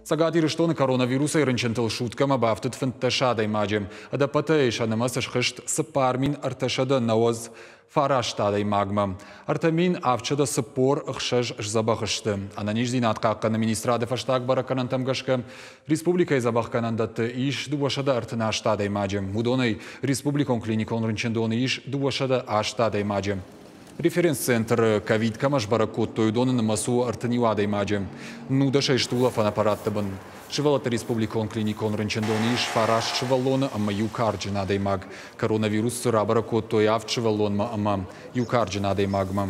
Цӕгат Ирыстоны коронавирусӕй рынчынтыл суткӕмӕ бафтыд 15 адӕймаджы. Ӕдӕппӕтӕй сӕ нымӕц схызт 4399 адӕймагмӕ. 3746 сдзӕбӕх сты. Ӕнӕниздзинад хъахъхъӕны министрады фӕстаг бӕрӕггӕнӕнтӕм гӕсгӕ республикӕйы дзӕбӕхгӕнӕндӕтты ис 238 адӕймаджы. Уыдонӕй республикон клиникон рынчындоны ис 208 адӕймаджы. Референс-центры ковид кӕмӕ сбӕрӕг кодтой, уыдоны нымӕц у 31 адӕймаджы. 19 сты улӕфӕн аппаратты бын. Сывӕллӕтты республикон клиникон рынчындоны ис 9 сывӕллоны ӕмӕ иу карджын адӕймаг. Коронавирус рабӕрӕг кодтой 7 сывӕллонмӕ ӕмӕ иу карджын адӕймагмӕ.